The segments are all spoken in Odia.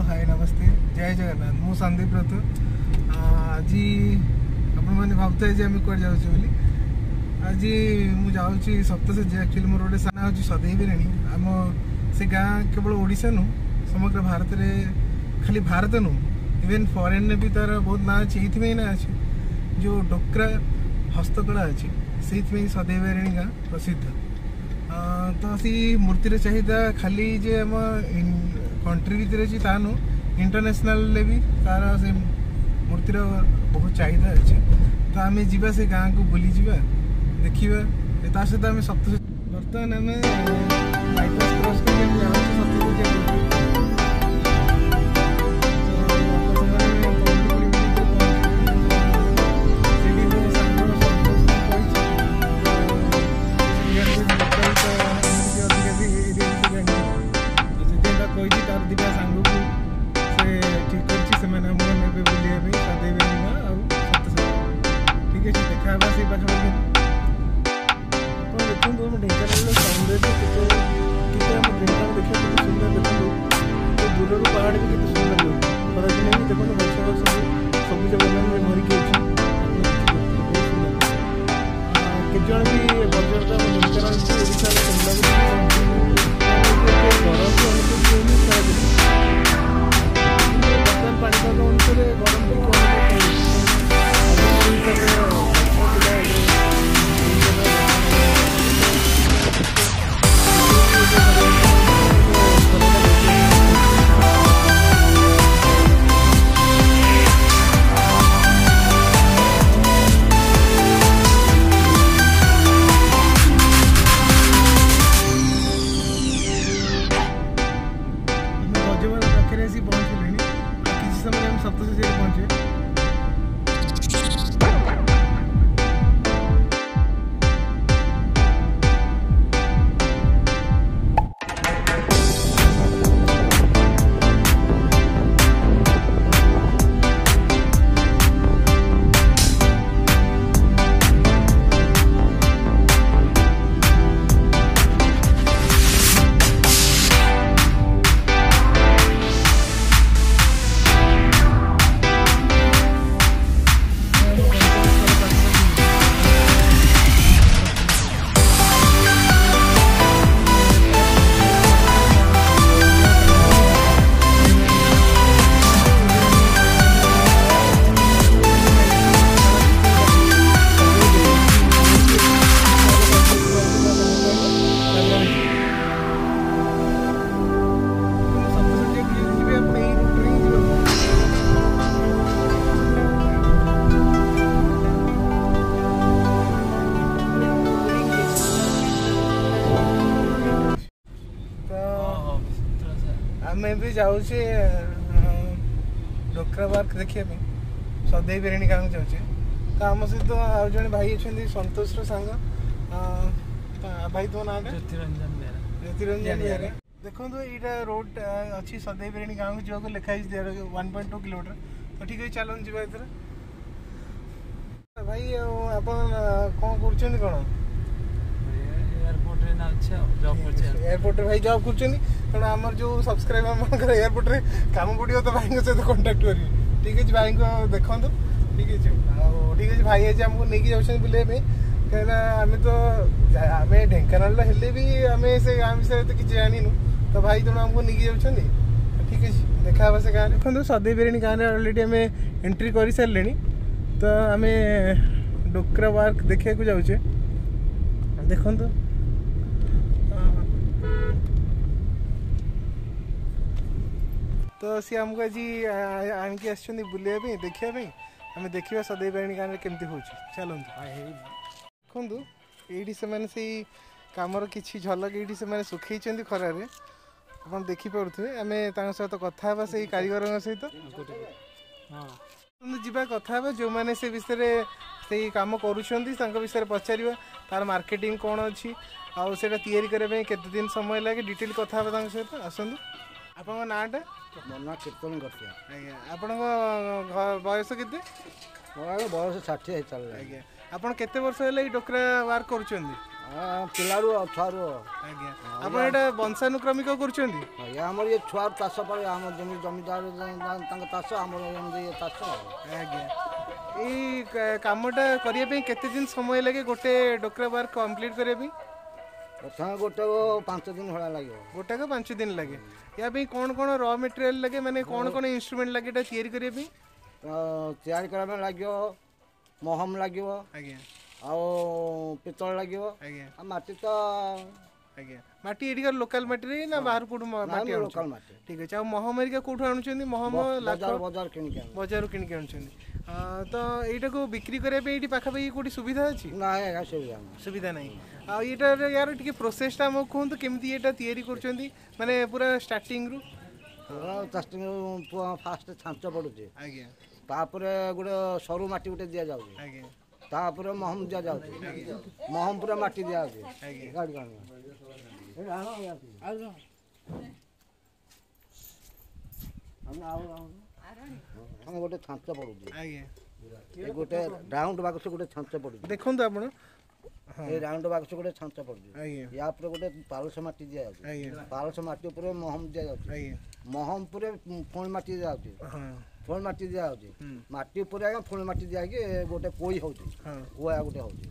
ହାଏ, ନମସ୍ତେ, ଜୟ ଜଗନ୍ନାଥ। ମୁଁ ସନ୍ଦୀପ ରଥ। ଆଜି ଆପଣମାନେ ଭାବୁଥିବେ ଯେ ଆମେ କୁଆଡ଼େ ଯାଉଛୁ ବୋଲି। ଆଜି ମୁଁ ଯାଉଛି ସପ୍ତଶଯ୍ୟା। ଆକ୍ଚୁଆଲି ମୋର ଗୋଟେ ସାନ ହେଉଛି ସଦେଇ ବିରିୟାନୀ। ଆମ ସେ ଗାଁ କେବଳ ଓଡ଼ିଶା ନୁହଁ, ସମଗ୍ର ଭାରତରେ, ଖାଲି ଭାରତ ନୁହଁ, ଇଭେନ୍ ଫରେନ୍ରେ ବି ତାର ବହୁତ ନାଁ ଅଛି। ଏଇଥିପାଇଁ ନାଁ ଅଛି, ଯେଉଁ ଡୋକ୍ରା ହସ୍ତକଳା ଅଛି, ସେଇଥିପାଇଁ ସଦେଇ ବିରିୟାନୀ ଗାଁ ପ୍ରସିଦ୍ଧ। ତ ସେଇ ମୂର୍ତ୍ତିର ଚାହିଦା ଖାଲି ଯେ ଆମ କଣ୍ଟ୍ରି ଭିତରେ ଅଛି ତା ନୁହଁ, ଇଣ୍ଟରନ୍ୟାସନାଲରେ ବି ତାର ସେ ମୂର୍ତ୍ତିର ବହୁତ ଚାହିଦା ଅଛି। ତ ଆମେ ଯିବା, ସେ ଗାଁକୁ ବୁଲିଯିବା, ଦେଖିବା। ତା ସହିତ ଆମେ ସପ୍ତ ବର୍ତ୍ତମାନ ଆମେ ବାଇପାସ୍ କ୍ରସ୍ କରିକି ଆମେ ଯାଉଛୁ ସପ୍ତଶଯ୍ୟା। ସେଠି ମୋ ସାଙ୍ଗ ସନ୍ତୋଷଙ୍କୁ କହିଛି, ଲୋକାଲ ତ ଟିକେ ଅଧିକା ସେ ଏରିଆ ବିଷୟରେ ଜାଣିଛି, ତ ସେଥିପାଇଁ ତାକୁ କହିଛି। ତାର ଦୁଇଟା ସାଙ୍ଗକୁ ସେ ଠିକ୍ କରିଛି, ସେମାନେ ଆମକୁ ନେବେ ବୁଲିବା ପାଇଁ ସଦେଇ ଗାଁ ଆଉ ସପ୍ତଶଯ୍ୟା। ଠିକ୍ ଅଛି, ଦେଖା ହେବା ସେଇ ପାଖାପାଖି। ଆପଣ ଦେଖନ୍ତୁ ଆମ ଢେଙ୍କାନାଳର ସୌନ୍ଦର୍ଯ୍ୟ କେତେ କେତେ, ଆମ ଢେଙ୍କାନାଳ ଦେଖିବାକୁ କେତେ ସୁନ୍ଦର। ଦେଖନ୍ତୁ ଏ ଦୂରରୁ ପାହାଡ଼ ବି କେତେ ସୁନ୍ଦର ଲାଗୁଛି। ଖରାଦିନେ ବି ଦେଖନ୍ତୁ ଗଛ ସବୁ ସବୁଜ ବନାନୀରେ ଭରିକି ଅଛି। ଆପଣ ଦେଖିପାରୁଥିବେ, ବହୁତ ସୁନ୍ଦର। କେତେଜଣ ବି ପର୍ଯ୍ୟଟକ ଆମ ଢେଙ୍କାନାଳକୁ ଓଡ଼ିଶାର କେନ୍ଦ୍ର ବୋଲି କହନ୍ତି। ଏତେ ଗରମ ବି ଅନୁଭୂତି ହୁଏନି ଖରାଦିନେ, କିନ୍ତୁ ବର୍ତ୍ତମାନ ପାଣିପାଗ ଅନୁସାରେ ଗରମ ଟିକେ ଅନୁଭବ ହେଉଛି। ଆଗରୁ ହିସାବରେ ଗଛ ଥିଲା, ଏବେ ସେଇ ହିସାବରେ ଗଛ ନାହିଁ। ଖରାଟା ବେଶୀ ଅନୁଭୂତି ହେଉଛି। ଆମେ ଗଜବର ପାଖରେ ଆସି ପହଞ୍ଚିଲେଣି। ଆଉ କିଛି ସମୟରେ ଆମେ ସପ୍ତଶଯ୍ୟାରେ ପହଞ୍ଚିବେ। ଆମ ଗନ୍ତବ୍ୟସ୍ଥଳ ପାଖାପାଖି। ସପ୍ତଶଯ୍ୟାକୁ ଯଦି ଯିବେ, ଆପଣ ଏଇ ରୁଟ୍ରେ ହିଁ ଯିବାକୁ। ତ ଆମେ ବି ଯାଉଛେ ଡୋକ୍ରା ପାର୍କ ଦେଖିବା ପାଇଁ, ସଦେଇ ବିରିୟାନୀ ଗାଁକୁ ଯାଉଛେ। ତ ଆମ ସହିତ ଆଉ ଜଣେ ଭାଇ ଅଛନ୍ତି, ସନ୍ତୋଷର ସାଙ୍ଗ। ଭାଇ, ତୁମ ନାଁଟା? ଜ୍ୟୋତିରଞ୍ଜନ ବେହେରା। ଜ୍ୟୋତିରଞ୍ଜନ ବେହେରା। ଦେଖନ୍ତୁ, ଏଇଟା ରୋଡ ଅଛି ସଦେଇ ବିରିୟାନୀ ଗାଁକୁ ଯିବାକୁ, ଲେଖା ହେଇଛି 1.2 କିଲୋମିଟର। ତ ଠିକ୍ ଅଛି, ଚାଲନ୍ତୁ ଯିବା ଏଥିରେ। ଭାଇ, ଆଉ ଆପଣ କ'ଣ କରୁଛନ୍ତି କ'ଣ? ଏୟାରପୋର୍ଟରେ ନା ଅଛି ଆଉ ଜବ୍ କରୁଛି ଆଉ। ଏୟାରପୋର୍ଟରେ ଭାଇ ଜବ୍ କରୁଛନ୍ତି। ତେଣୁ ଆମର ଯେଉଁ ସବସ୍କ୍ରାଇବର ମାନଙ୍କର ଏୟାରପୋର୍ଟରେ କାମ ପଡ଼ିବ, ତ ଭାଇଙ୍କ ସହିତ କଣ୍ଟାକ୍ଟ କରିବେ। ଠିକ୍ ଅଛି, ଭାଇଙ୍କ ଦେଖନ୍ତୁ। ଠିକ୍ ଅଛି, ଆଉ ଠିକ୍ ଅଛି, ଭାଇ ଆଜି ଆମକୁ ନେଇକି ଯାଉଛନ୍ତି ବୁଲିବା ପାଇଁ, କାହିଁକିନା ଆମେ ତ ଆମେ ଢେଙ୍କାନାଳର ହେଲେ ବି ଆମେ ସେ ଗାଁ ବିଷୟରେ ତ କିଛି ଜାଣିନୁ। ତ ଭାଇ ତେଣୁ ଆମକୁ ନେଇକି ଯାଉଛନ୍ତି। ଠିକ୍ ଅଛି, ଦେଖା ହେବା ସେ ଗାଁରେ। ଦେଖନ୍ତୁ, ସଦେଇ ବିରିୟାନୀ ଗାଁରେ ଅଲରେଡ଼ି ଆମେ ଏଣ୍ଟ୍ରି କରିସାରିଲେଣି। ତ ଆମେ ଡୋକ୍ରା ୱାର୍କ ଦେଖିବାକୁ ଯାଉଛେ। ଦେଖନ୍ତୁ, ତ ସିଏ ଆମକୁ ଆଜି ଆଣିକି ଆସିଛନ୍ତି ବୁଲିବା ପାଇଁ, ଦେଖିବା ପାଇଁ। ଆମେ ଦେଖିବା ସଦେଇ ବିରିୟାନୀ ଗାଁରେ କେମିତି ହେଉଛି। ଚାଲନ୍ତୁ। ଦେଖନ୍ତୁ, ଏଇଠି ସେମାନେ ସେଇ କାମର କିଛି ଝଲକ ଏଇଠି ସେମାନେ ଶୁଖେଇଛନ୍ତି ଖରାରେ, ଆପଣ ଦେଖିପାରୁଥିବେ। ଆମେ ତାଙ୍କ ସହିତ କଥା ହେବା, ସେଇ କାରିଗରଙ୍କ ସହିତ। ହଁ, ଯିବା, କଥା ହେବା ଯେଉଁମାନେ ସେ ବିଷୟରେ ସେଇ କାମ କରୁଛନ୍ତି, ତାଙ୍କ ବିଷୟରେ ପଚାରିବା, ତାର ମାର୍କେଟିଂ କ'ଣ ଅଛି ଆଉ ସେଇଟା ତିଆରି କରିବା ପାଇଁ କେତେ ଦିନ ସମୟ ଲାଗେ, ଡିଟେଲ କଥା ହେବା ତାଙ୍କ ସହିତ। ଆସନ୍ତୁ। ଆପଣଙ୍କ ନାଁଟା? ମୋ ନାଁ କୀର୍ତ୍ତନ ଗର୍ତିଆ। ଆଜ୍ଞା, ଆପଣଙ୍କ ବୟସ କେତେ? ମୋର ବୟସ 60 ହେଇ ଚାଲିଲାଣି। ଆଜ୍ଞା। ଆପଣ କେତେ ବର୍ଷ ହେଲା ଏଇ ଡୋକରା ୱାର୍କ କରୁଛନ୍ତି? ପିଲାରୁ, ଛୁଆରୁ। ଆଜ୍ଞା, ଆପଣ ଏଇଟା ବଂଶାନୁକ୍ରମିକ କରୁଛନ୍ତି? ଆଜ୍ଞା, ଆମର ଇଏ ଛୁଆରୁ ଚାଷ ପରେ, ଆମର ଯେମିତି ଜମିଦାର ତାଙ୍କ ଚାଷ, ଆମର ଏମିତି ଇଏ ଚାଷ। ଆଜ୍ଞା, ଏଇ କାମଟା କରିବା ପାଇଁ କେତେ ଦିନ ସମୟ ଲାଗେ ଗୋଟେ ଡୋକରା ୱାର୍କ କମ୍ପ୍ଲିଟ୍ କରିବା ପାଇଁ? ପ୍ରଥମେ ଗୋଟେ 5 ଦିନ ଭଳିଆ ଲାଗିବ। ଗୋଟାକ 5 ଦିନ ଲାଗେ। ୟା ପାଇଁ କ'ଣ କ'ଣ ର ମେଟେରିଆଲ ଲାଗେ, ମାନେ କ'ଣ କ'ଣ ଇନଷ୍ଟ୍ରୁମେଣ୍ଟ ଲାଗେ ଏଇଟା ତିଆରି କରିବା ପାଇଁ? ତିଆରି କରିବା ପାଇଁ ଲାଗିବ ମହମ ଲାଗିବ। ଆଜ୍ଞା। ଆଉ ପିତ୍ତଳ ଲାଗିବ। ଆଜ୍ଞା। ଆଉ ମାଟି ତ। ଆଜ୍ଞା, ମାଟି ଏଠିକାର ଲୋକାଲ ମାଟିରେ ନା ବାହାରୁ କୋଉଠୁ ମାଟି? ଲୋକାଲ ମାଟି। ଠିକ ଅଛି। ଆଉ ମହମ ହେରିକା କୋଉଠୁ ଆଣୁଛନ୍ତି? ମହମ ବଜାର କିଣିକି? ବଜାରରୁ କିଣିକି ଆଣୁଛନ୍ତି। ତ ଏଇଟାକୁ ବିକ୍ରି କରିବା ପାଇଁ ଏଇଠି ପାଖାପାଖି କୋଉଠି ସୁବିଧା ଅଛି? ନାଇଁ ଆଜ୍ଞା, ସୁବିଧା ସୁବିଧା ନାହିଁ। ଆଉ ଏଇଟାର ୟାର ଟିକେ ପ୍ରୋସେସଟା ଆମକୁ କୁହନ୍ତୁ, କେମିତି ଏଇଟା ତିଆରି କରୁଛନ୍ତି, ମାନେ ପୁରା ଷ୍ଟାର୍ଟିଂରୁ। ଷ୍ଟାର୍ଟିଂ ଫାଷ୍ଟ ଛାଞ୍ଚ ପଡ଼ୁଛି। ଆଜ୍ଞା। ତାପରେ ଗୋଟେ ସରୁ ମାଟି ଗୋଟେ ଦିଆଯାଉଛି। ଆଜ୍ଞା। ତାପରେ ମହମ ଦିଆଯାଉଛି, ମହମ ପୁରା ମାଟି ଦିଆଯାଉଛି। ଗାଡ଼ି ଆମ ଗୋଟେ ଛାଞ୍ଚ ପଡ଼ୁଛି। ଆଜ୍ଞା। ଏ ଗୋଟେ ରାଉଣ୍ଡ ବାକ୍ସ ଗୋଟେ ଛାଞ୍ଚ ପଡ଼ୁଛି। ଦେଖନ୍ତୁ ଆପଣ, ଏଇ ରାଉଣ୍ଡ ବାକ୍ସ ଗୋଟେ ଛାଞ୍ଚ ପଡ଼ୁଛି। ଆଜ୍ଞା। ୟା ଉପରେ ଗୋଟେ ପାଳୁସ ମାଟି ଦିଆଯାଉଛି। ଆଜ୍ଞା। ପାଳୁସ ମାଟି ଉପରେ ମହମ ଦିଆଯାଉଛି। ଆଜ୍ଞା। ମହମ ଉପରେ ପୁଣି ମାଟି ଦିଆଯାଉଛି। ପୁଣି ମାଟି ଦିଆଯାଉଛି, ମାଟି ଉପରେ ଆଜ୍ଞା ପୁଣି ମାଟି ଦିଆହେଇକି ଗୋଟେ କୋଇ ହେଉଛି, କୁଆ ଗୋଟେ ହେଉଛି,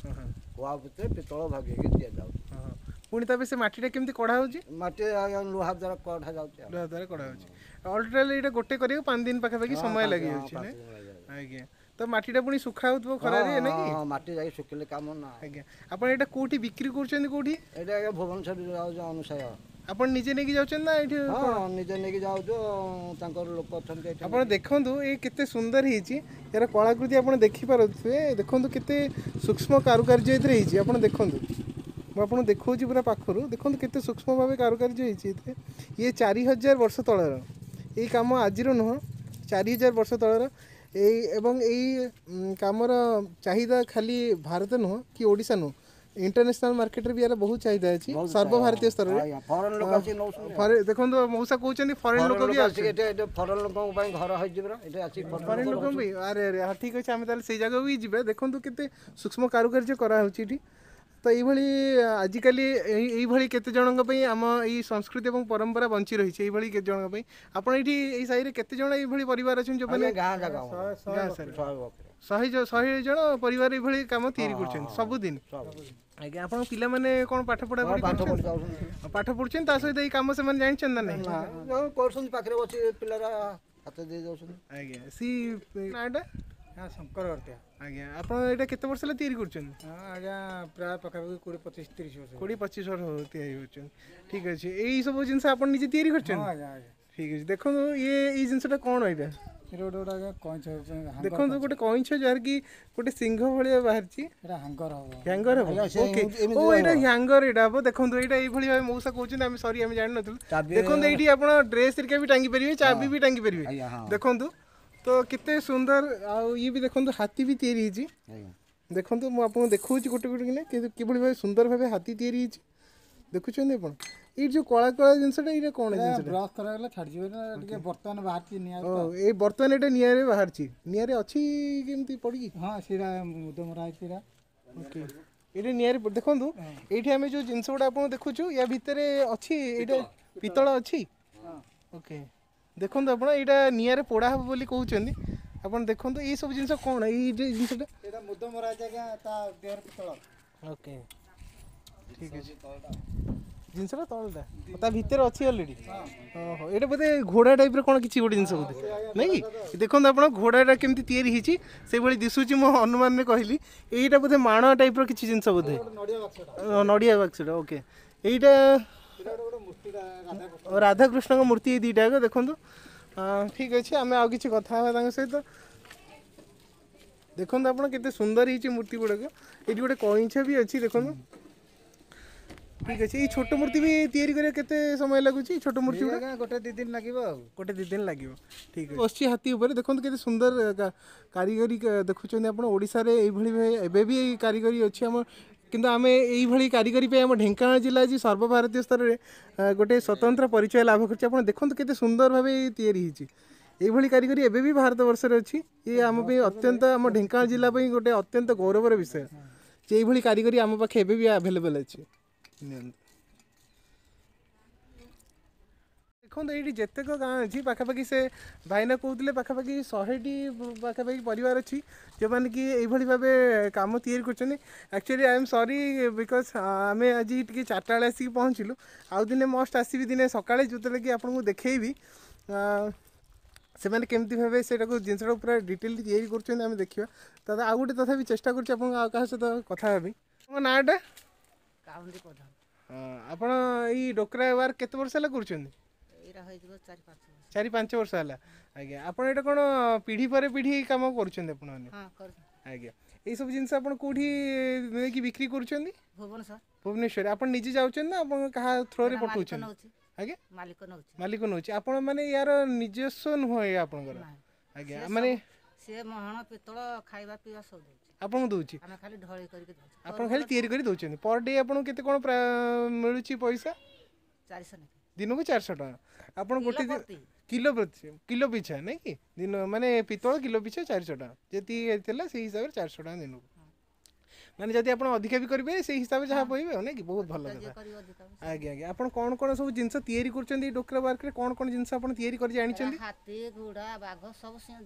କୁଆ ଭିତରେ ପିତ୍ତଳ ଭାଗିକି ଦିଆଯାଉଛି। ପୁଣି ତାପରେ ସେ ମାଟିଟା କେମିତି କଢ଼ା ହେଉଛି? ମାଟି ଆଜ୍ଞା ଲୁହା ଦ୍ୱାରା କଢ଼ା ଯାଉଛି। ଲୁହା ଦ୍ୱାରା କଢ଼ା ହେଉଛି। ଅଲଟୋଟାଲ ଏଇଟା ଗୋଟେ କରିବାକୁ 5 ଦିନ ପାଖାପାଖି ସମୟ ଲାଗିଯାଉଛି? ଆଜ୍ଞା। ତ ମାଟିଟା ପୁଣି ଶୁଖା ହେଉଥିବ ଖରାରେ ନାଇଁ କି? ମାଟି ଯାଇ ଶୁଖିଲେ କାମ ନା। ଆଜ୍ଞା, ଆପଣ ଏଇଟା କୋଉଠି ବିକ୍ରି କରୁଛନ୍ତି କୋଉଠି? ଏଇଟା ଆଜ୍ଞା ଭୁବନେଶ୍ୱର ଯାଉଛି ଅନୁସାୟ। ଆପଣ ନିଜେ ନେଇକି ଯାଉଛନ୍ତି ନା ଏଇଠି? ହଁ, ନିଜେ ନେଇକି ଯାଉଛୁ, ତାଙ୍କର ଲୋକ ଅଛନ୍ତି। ଆପଣ ଦେଖନ୍ତୁ ଏଇ କେତେ ସୁନ୍ଦର ହେଇଛି ଏହାର କଳାକୃତି, ଆପଣ ଦେଖିପାରୁଥିବେ। ଦେଖନ୍ତୁ କେତେ ସୂକ୍ଷ୍ମ କାରୁକାର୍ଯ୍ୟ ଏଥିରେ ହେଇଛି। ଆପଣ ଦେଖନ୍ତୁ, ମୁଁ ଆପଣଙ୍କୁ ଦେଖାଉଛି ପୁରା ପାଖରୁ, ଦେଖନ୍ତୁ କେତେ ସୂକ୍ଷ୍ମ ଭାବେ କାରୁକାର୍ଯ୍ୟ ହେଇଛି ଏଥିରେ। ଇଏ 4000 ବର୍ଷ ତଳର ଏଇ କାମ, ଆଜିର ନୁହଁ, 4000 ବର୍ଷ ତଳର ଏଇ। ଏବଂ ଏଇ କାମର ଚାହିଦା ଖାଲି ଭାରତ ନୁହଁ କି ଓଡ଼ିଶା ନୁହଁ, ଇଣ୍ଟରନ୍ୟାସନାଲ ମାର୍କେଟରେ ବି ଏହାର ବହୁତ ଚାହିଦା ଅଛି, ସର୍ବଭାରତୀୟ ସ୍ତରରେ। ଦେଖନ୍ତୁ ମଉସା କହୁଛନ୍ତି ଫରେନ୍ ଲୋକ ବି ଆସୁଛନ୍ତି। ଫରେନ୍ ଲୋକଙ୍କ ପାଇଁ ଘର ହେଇଛି ପରା ଏଠି ଆସି, ଫରେନ୍ ଲୋକଙ୍କ ପାଇଁ। ଆରେ ଆରେ, ହଁ ଠିକ୍ ଅଛି, ଆମେ ତାହେଲେ ସେଇ ଜାଗାକୁ ବି ଯିବା। ଦେଖନ୍ତୁ କେତେ ସୂକ୍ଷ୍ମ କାରୁକାର୍ଯ୍ୟ କରାହେଉଛି ଏଠି। ତ ଏଇଭଳି ଆଜିକାଲି ଏଇଭଳି କେତେ ଜଣଙ୍କ ପାଇଁ ଆମ ଏଇ ସଂସ୍କୃତି ଏବଂ ପରମ୍ପରା ବଞ୍ଚି ରହିଛି, ଏଇଭଳି କେତେ ଜଣଙ୍କ ପାଇଁ। ଆପଣ ଏଇଠି ଏଇ ସାହିରେ କେତେ ଜଣ ଏଇଭଳି ପରିବାର ଅଛନ୍ତି ଯେଉଁମାନେ? ଗାଁ ଜାଗା ଗାଁ ସାରା 100 ଜଣ ପରିବାର ଏଇଭଳି କାମ ତିଆରି କରୁଛନ୍ତି ସବୁଦିନ? ଆଜ୍ଞା। ଆପଣଙ୍କ ପିଲାମାନେ କ'ଣ ପାଠ ପଢ଼ାପଢ଼ି କରୁଛନ୍ତି? ପାଠ ପଢୁଛନ୍ତି, ତା ସହିତ ଏଇ କାମ ସେମାନେ ଜାଣିଛନ୍ତି ନା ନାହିଁ? କରୁଛନ୍ତି, ପାଖରେ ବସି ପିଲାର ହାତ ଦେଇ ଯାଉଛନ୍ତି। ଆଜ୍ଞା, ସି ନାଁଟା? ହଁ, ଶଙ୍କର ଗର୍ତ୍ତିଆ। ଆଜ୍ଞା, ଆପଣ ଏଇଟା କେତେ ବର୍ଷ ହେଲା ତିଆରି କରୁଛନ୍ତି? ହଁ ଆଜ୍ଞା, ପ୍ରାୟ ପାଖାପାଖି 20 25 30 ବର୍ଷ। 20 25 ବର୍ଷ ତିଆରି କରୁଛନ୍ତି। ଠିକ୍ ଅଛି। ଏଇ ସବୁ ଜିନିଷ ଆପଣ ନିଜେ ତିଆରି କରିଛନ୍ତି? ଆଜ୍ଞା ଆଜ୍ଞା। ଠିକ୍ ଅଛି। ଦେଖନ୍ତୁ ଇଏ ଏଇ ଜିନିଷଟା କ'ଣ ଏଇଟା? ଗୋଟେ ଗୋଟେ ଆଜ୍ଞା କଇଁଛ। ଦେଖନ୍ତୁ ଗୋଟେ କଇଁଛ, ଯାହାର କି ଗୋଟେ ସିଂହ ଭଳିଆ ବାହାରିଛି। ଏଇଟା ହ୍ୟାଙ୍ଗର ହବ। ହ୍ୟାଙ୍ଗର ହବ, ଓକେ। ଓ ଏଇଟା ହ୍ୟାଙ୍ଗର ଏଇଟା ହବ। ଦେଖନ୍ତୁ ଏଇଟା ଏଇଭଳି ଭାବେ ମଉସା କହୁଛନ୍ତି, ଆମେ ସରି ଆମେ ଜାଣିନଥିଲୁ। ଦେଖନ୍ତୁ ଏଇଠି ଆପଣ ଡ୍ରେସ୍ ହେରିକା ବି ଟାଙ୍ଗି ପାରିବେ, ଚାବି ବି ଟାଙ୍ଗି ପାରିବେ। ଦେଖନ୍ତୁ ତ କେତେ ସୁନ୍ଦର। ଆଉ ଇଏ ବି ଦେଖନ୍ତୁ ହାତୀ ବି ତିଆରି ହେଇଛି। ଦେଖନ୍ତୁ ମୁଁ ଆପଣଙ୍କୁ ଦେଖାଉଛି ଗୋଟେ ଗୋଟେ କିନା କିଭଳି ଭାବେ ସୁନ୍ଦର ଭାବେ ହାତୀ ତିଆରି ହେଇଛି। ଦେଖୁଛନ୍ତି ଆପଣ ଏଇ ଯୋଉ କଳା କଳା ଜିନିଷଟା, ଏଇଟା କ'ଣ ଜିନିଷଟା? ବ୍ରସ୍ କରାଗଲେ ଛାଡ଼ିଯିବ ଟିକେ। ବର୍ତ୍ତମାନ ବାହାରିଛି ନିଆଁ। ଓ ଏଇ ବର୍ତ୍ତମାନ ଏଇଟା ନିଆଁରେ ବାହାରିଛି, ନିଆଁରେ ଅଛି କେମିତି ପଡ଼ିକି? ହଁ, ସେଇଟା ମୁଦ ମରା ହେଇଛି ଏଇଟା। ଓକେ, ଏଇଟା ନିଆଁରେ। ଦେଖନ୍ତୁ ଏଇଠି ଆମେ ଯୋଉ ଜିନିଷ ଗୁଡ଼ା ଆପଣଙ୍କୁ ଦେଖୁଛୁ, ୟା ଭିତରେ ଅଛି ଏଇଟା ପିତ୍ତଳ ଅଛି। ଓକେ, ଦେଖନ୍ତୁ ଆପଣ ଏଇଟା ନିଆଁରେ ପୋଡ଼ା ହେବ ବୋଲି କହୁଛନ୍ତି। ଆପଣ ଦେଖନ୍ତୁ ଏଇ ସବୁ ଜିନିଷ କ'ଣ? ଏଇ ଜିନିଷଟା ଏଇଟା ମୁଦ ମରା ହେଇଛି ଆଜ୍ଞା, ତା ଦେହରେ ପିତ୍ତଳ। ଓକେ, ଠିକ୍ ଅଛି। ଜିନିଷଟା ତଳଟା ତା ଭିତରେ ଅଛି ଅଲରେଡ଼ି। ଓହୋ, ଏଇଟା ବୋଧେ ଘୋଡ଼ା ଟାଇପ୍ର କ'ଣ କିଛି ଗୋଟେ ଜିନିଷ ବୋଧେ ନାଇଁ କି? ଦେଖନ୍ତୁ ଆପଣ ଘୋଡ଼ାଟା କେମିତି ତିଆରି ହେଇଛି, ସେଇଭଳି ଦିଶୁଛି, ମୁଁ ଅନୁମାନରେ କହିଲି। ଏଇଟା ବୋଧେ ମାଣ ଟାଇପ୍ର କିଛି ଜିନିଷ ବୋଧେ, ନଡ଼ିଆ ବାକ୍ସଟା। ଓକେ, ଏଇଟା ରାଧାକୃଷ୍ଣଙ୍କ ମୂର୍ତ୍ତି, ଏଇ ଦୁଇଟା ଯାକ ଦେଖନ୍ତୁ। ଠିକ୍ ଅଛି, ଆମେ ଆଉ କିଛି କଥା ହେବା ତାଙ୍କ ସହିତ। ଦେଖନ୍ତୁ ଆପଣ କେତେ ସୁନ୍ଦର ହେଇଛି ମୂର୍ତ୍ତି ଗୁଡ଼ାକ। ଏଇଠି ଗୋଟେ କଇଁଛ ବି ଅଛି ଦେଖନ୍ତୁ। ଠିକ୍ ଅଛି। ଏଇ ଛୋଟ ମୂର୍ତ୍ତି ବି ତିଆରି କରିବା କେତେ ସମୟ ଲାଗୁଛି ଛୋଟ ମୂର୍ତ୍ତି ଗୁଡ଼ା? ଗୋଟେ 2 ଦିନ ଲାଗିବ। ଆଉ ଗୋଟେ 2 ଦିନ ଲାଗିବ। ଠିକ୍ ବସିଛି ହାତୀ ଉପରେ। ଦେଖନ୍ତୁ କେତେ ସୁନ୍ଦର କାରିଗରୀ ଦେଖୁଛନ୍ତି ଆପଣ। ଓଡ଼ିଶାରେ ଏଇଭଳି ଏବେ ବି ଏଇ କାରିଗରୀ ଅଛି ଆମ, କିନ୍ତୁ ଆମେ ଏଇଭଳି କାରିଗରୀ ପାଇଁ ଆମ ଢେଙ୍କାନାଳ ଜିଲ୍ଲା ଆଜି ସର୍ବଭାରତୀୟ ସ୍ତରରେ ଗୋଟେ ସ୍ୱତନ୍ତ୍ର ପରିଚୟ ଲାଭ କରିଛି। ଆପଣ ଦେଖନ୍ତୁ କେତେ ସୁନ୍ଦର ଭାବେ ତିଆରି ହେଇଛି। ଏଇଭଳି କାରିଗରୀ ଏବେ ବି ଭାରତ ବର୍ଷରେ ଅଛି। ଇଏ ଆମ ପାଇଁ ଅତ୍ୟନ୍ତ, ଆମ ଢେଙ୍କାନାଳ ଜିଲ୍ଲା ପାଇଁ ଗୋଟେ ଅତ୍ୟନ୍ତ ଗୌରବର ବିଷୟ ଯେ ଏଇଭଳି କାରିଗରୀ ଆମ ପାଖେ ଏବେ ବି ଆଭେଲେବଲ୍ ଅଛି। ନିଅନ୍ତୁ, ଦେଖନ୍ତୁ ଏଇଠି ଯେତେକ ଗାଁ ଅଛି ପାଖାପାଖି, ସେ ଭାଇନା କହୁଥିଲେ ପାଖାପାଖି 100ଟି ପାଖାପାଖି ପରିବାର ଅଛି ଯେଉଁମାନେ କି ଏଇଭଳି ଭାବେ କାମ ତିଆରି କରୁଛନ୍ତି। Actually I am sorry because ଆମେ ଆଜି ଟିକେ 4ଟା ବେଳେ ଆସିକି ପହଞ୍ଚିଲୁ। ଆଉ ଦିନେ ମଷ୍ଟ ଆସିବି ଦିନେ ସକାଳେ, ଯେଉଁଥିରେ କି ଆପଣଙ୍କୁ ଦେଖେଇବି ସେମାନେ କେମିତି ଭାବେ ସେଇଟାକୁ ଜିନିଷଟାକୁ ପୁରା ଡିଟେଲ୍ ତିଆରି କରୁଛନ୍ତି, ଆମେ ଦେଖିବା। ତ ଆଉ ଗୋଟେ ତଥାପି ଚେଷ୍ଟା କରୁଛି ଆପଣଙ୍କୁ ଆଉ କାହା ସହିତ କଥା ହେବି। ଆପଣଙ୍କ ନାଁଟା? କାଉଣ୍ଡି ପ୍ରଧାନ। ହଁ, ଆପଣ ଏଇ ଡୋକରା ୱାର୍କ କେତେ ବର୍ଷ ହେଲା କରୁଛନ୍ତି? ଏଇଟା ହେଇଯିବ 4 5 ବର୍ଷ। 4 5 ବର୍ଷ ହେଲା। ଆଜ୍ଞା, ଆପଣ ଏଇଟା କ'ଣ ପିଢ଼ି ପରେ ପିଢ଼ି କାମ କରୁଛନ୍ତି ଆପଣମାନେ? ହଁ, କରୁଛୁ। ଆଜ୍ଞା, ଏଇସବୁ ଜିନିଷ ଆପଣ କେଉଁଠି ନେଇକି ବିକ୍ରି କରୁଛନ୍ତି? ଭୁବନେଶ୍ୱର। ଭୁବନେଶ୍ୱର। ଆପଣ ନିଜେ ଯାଉଛନ୍ତି ନା ଆପଣ କାହା ଥ୍ରୋରେ ଏଇଟା ମାଲିକ ପଠାଉଛନ୍ତି? ନଉଛି। ଆଜ୍ଞା, ମାଲିକ ନଉଛି। ମାଲିକ ନଉଛି। ଆପଣ ମାନେ ୟାର ନିଜସ୍ୱ ନୁହଁ ଏଇଆ ଆପଣଙ୍କର? ନାଇଁ। ଆଜ୍ଞା। ସିଏ ମାନେ ସିଏ ମହଣ ପିତ୍ତଳ ଖାଇବା ପିଇବା ସବୁ ଦଉଛି। ଆପଣଙ୍କୁ ଦଉଛି? ଆମେ ଖାଲି ଢଳେଇ କରିକି ଦଉଛୁ। ଆପଣ ଖାଲି ତିଆରି କରି ଦଉଛନ୍ତି। ପର ଡେ ଆପଣଙ୍କୁ କେତେ କ'ଣ ମିଳୁଛି ପଇସା? 400 ନେଖେ। ଦିନକୁ 400 ଟଙ୍କା ଆପଣ ଗୋଟେ କିଲୋ ପ୍ରତି। କିଲୋ ପ୍ରତି, କିଲୋ ପିଛା ନାଇଁ କି? ଦିନ ମାନେ ପିତ୍ତଳ କିଲୋ ପିଛା 400 ଟଙ୍କା ଯେତିକି ଥିଲା ସେଇ ହିସାବରେ 400 ଟଙ୍କା ଦିନକୁ। ମାନେ ଯଦି ଆପଣ ଅଧିକା ବି କରିବେ ସେଇ ହିସାବରେ ଯାହା ପାଇବେ ଆଉ, ନାଇଁ କି? ବହୁତ ଭଲ ଯିଏ କଥା। କରିବ ଅଧିକା। ଆଜ୍ଞା ଆଜ୍ଞା, ଆପଣ କ'ଣ କ'ଣ ସବୁ ଜିନିଷ ତିଆରି କରୁଛନ୍ତି ଏଇ ଡୋକରା ୱାର୍କରେ? କ'ଣ କ'ଣ ଜିନିଷ ଆପଣ ତିଆରି କରି ଜାଣିଛନ୍ତି? ହାତୀ, ଘୋଡ଼ା, ବାଘ ସବୁ,